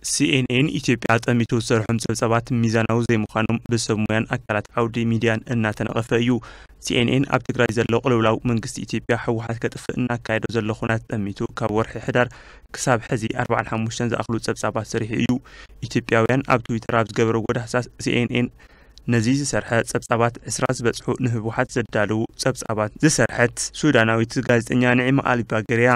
ሲኤንኤን ኢትዮጵያ ጠሚቱ ዝሰርሖም ጸብጻባት ሚዛናዊ ዘይምዃኖም ብሰብ ሞያን ኣካላት ዓውዲ ሚድያን እናተነቐፈ እዩ። ሲኤንኤን ኣብ ትግራይ ዘሎ ቅልውላው መንግስቲ ኢትዮጵያ ህወሓት ከጥፍእ እናካየዶ ዘሎ ኹናት ጠሚቱ ካብ ወርሒ ሕዳር ክሳብ ሕዚ ኣርባዓን ሓሙሽተን ዝኣኽሉ ጸብጻባት ሰሪሑ እዩ። ኢትዮጵያውያን ኣብ ትዊተር ኣብ ዝገበርዎ ዳህሳስ ሲኤንኤን ነዚ ዝሰርሐ ጸብጻባት ዕስራ ዝበጽሑ ንህወሓት ዘዳለዉ ጸብጻባት ዝሰርሐት ሱዳናዊት ጋዜጠኛ ንዒማ ኣሊባገር እያ።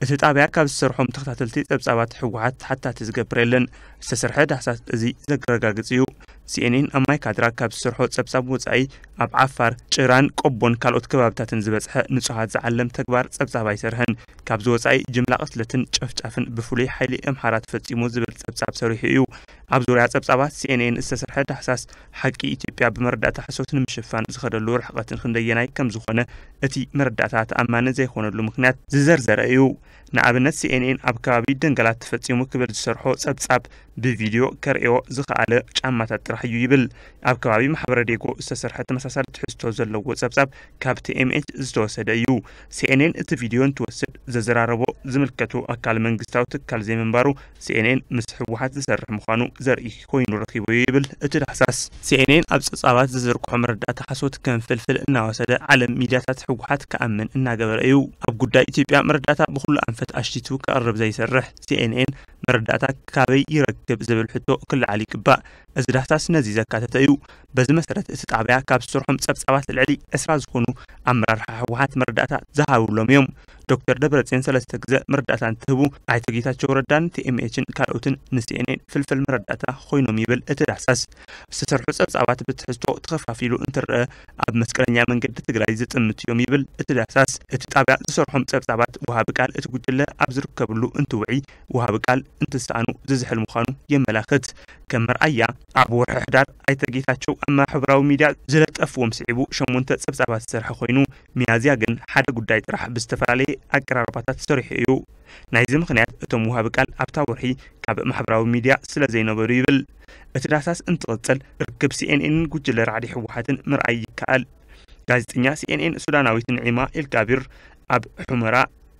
እቲ ጣብያ ካብ ዝሰርሖም ተኸታተልቲ ጸብጻባት ህወሓት ሓታቲ ዝገብር የለን። ዝተሰርሐ ዳህሳስ እዚ ዘረጋግጽ እዩ። ሲኤንኤን ኣብ ማይካድራ ካብ ዝሰርሖ ጸብጻብ ወጻኢ ኣብ ዓፋር፣ ጭራን ቆቦን ካልኦት ከባብታትን ዝበጽሐ ንጹሃት ዝዓለም ተግባር ጸብጻብ ኣይሰርሐን። ካብዚ ወጻኢ ጅምላ ቅትለትን ጨፍጫፍን ብፍሉይ ሓይሊ ኣምሓራ ተፈጺሙ ዝብል ጸብጻብ ሰሪሑ እዩ። ኣብ ዙርያ ጸብጻባት ሲኤንኤን ዝተሰርሐ ዳህሳስ ሓቂ ኢትዮጵያ ብመረዳእታ ሓሶት ንምሽፋን ዝኸደሉ ርሕቐትን ክንደየናይ ከም ዝኾነ እቲ መረዳእታ ተኣማኒ ዘይኾነሉ ምኽንያት ዝዘርዘረ እዩ። ንኣብነት ሲኤንኤን ኣብ ከባቢ ደንገላት ተፈጺሙ ክብል ዝሰርሖ ጸብጻብ ብቪድዮ ከርእዮ ዝኸኣለ ጫማታት ጥራሕ እዩ ይብል። ኣብ ከባቢ ማሕበረ ዴጎ ዝተሰርሐ ተመሳሳሊ ትሕዝቶ ዘለዎ ጸብጻብ ካብ ቲኤምኤች ዝተወሰደ እዩ። ሲኤንኤን እቲ ቪድዮ እንትወስድ ዘዘራረቦ ዝምልከቱ ኣካል መንግስታዊ ትካል ዘይምንባሩ ሲኤንኤን ምስ ህወሓት ዝሰርሕ ምዃኑ ዘርኢ ኮይኑ ረኺቦ ይብል እቲ ዳህሳስ። ሲኤንኤን ኣብ ጸብጻባት ዝዝርግሖ መረዳእታ ሓሶት ከም ፍልፍል እናወሰደ ዓለም ሚድያታት ህወሓት ክኣምን እናገበረ እዩ። ኣብ ጉዳይ ኢትዮጵያ መረዳእታ ብኹሉ ኣንፈት ኣሽቲቱ ከቕርብ ዘይሰርሕ ሲኤንኤን መረዳእታ ካበይ ይረክብ ዝብል ሕቶ ክለዓል ይግባእ። እዚ ዳህሳስ ነዚ ዘካተተ እዩ። በዚ መሰረት እቲ ጣብያ ካብ ዝሰርሖም ጸብጻባት ልዕሊ ዕስራ ዝኾኑ ኣመራርሓ ህወሓት መረዳእታ ዝሃብሎም እዮም። ዶክተር ደብረጽዮን ሰለስተ ግዘ መረዳእታ እንትህቡ፣ ኣይተ ጌታቸው ረዳን ቲኤምኤችን ካልኦትን ንሲኤንኤን ፍልፍል መረዳእታ ኮይኖም ይብል እቲ ዳህሳስ። ዝተሰርሑ ጸብጻባት ብትሕዝቶ ተኸፋፊሉ እንትረአ ኣብ መስቀለኛ መንገዲ ትግራይ ዝጥምት እዮም ይብል እቲ ዳህሳስ። እቲ ጣብያ ዝሰርሖም ጸብጻባት ወሃቢ ቃል እቲ ጉጅለ ኣብ ዝርከብሉ እንትውዒ፣ ወሃቢ ቃል እንትሰኣኑ ዝዝሕል ምዃኑ የመላኽት። ከም መርኣያ ኣብ ወርሒ ሕዳር ኣይተ ጌታቸው ኣብ ማሕበራዊ ሚድያ ዝለጠፍዎም ስዒቡ ሸሞንተ ጸብጻባት ዝሰርሐ ኮይኑ፣ ሚያዝያ ግን ሓደ ጉዳይ ጥራሕ ብዝተፈላለየ ኣቀራርባታት ሰሪሑ እዩ። ናይዚ ምኽንያት እቶም ወሃቢ ቃል ኣብታ ወርሒ ካብ ማሕበራዊ ሚድያ ስለ ዘይነበሩ ይብል። እቲ ዳህሳስ እንትቕጽል ርክብ ሲኤንኤንን ጉጅለ ራዕዲ ህወሓትን ምርኣይ ይከኣል። ጋዜጠኛ ሲኤንኤን ሱዳናዊት ንዒማ ኤልጋቢር ኣብ ሑመራ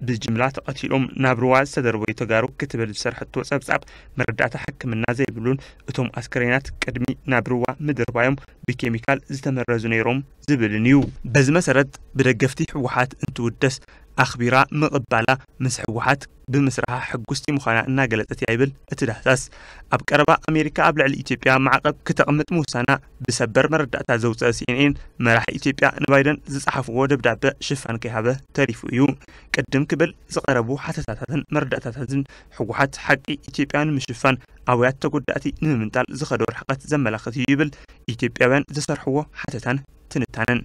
ብጅምላ ተቐቲሎም ናብ ሩዋ ዝተደርበዩ ተጋሩ ክትብል ዝሰርሐቶ ጸብጻብ መረዳእታ ሕክምና ዘይብሉን እቶም ኣስከሬናት ቅድሚ ናብ ሩዋ ምድርባዮም ብኬሚካል ዝተመረዙ ነይሮም ዝብልን እዩ። በዚ መሰረት ብደገፍቲ ህወሓት እንትውደስ ኣኽቢራ ምቕባላ ምስ ህወሓት ብምስራሓ ሕጉስቲ ምዃና እናገለጸት እያ ይብል እቲ ዳህሳስ። ኣብ ቀረባ ኣሜሪካ ኣብ ልዕሊ ኢትዮጵያ ማዕቐብ ክተቕምጥ ምውሳና ብሰበር መረዳእታ ዘውፀአ ሲኤንኤን መራሒ ኢትዮጵያ ንባይደን ዝጸሓፍዎ ደብዳበ ሽፋን ከይሃበ ተሪፉ እዩ። ቅድም ክብል ዝቐረቡ ሓተታታትን መረዳእታታትን ህወሓት ሓቂ ኢትዮጵያ ንምሽፋን ኣውያት ተጎዳእቲ ንምምንጣል ዝኸዶ ርሕቐት ዘመላኽት እዩ ይብል ኢትዮጵያውያን ዝሰርሕዎ ሓተታን ትንታነን።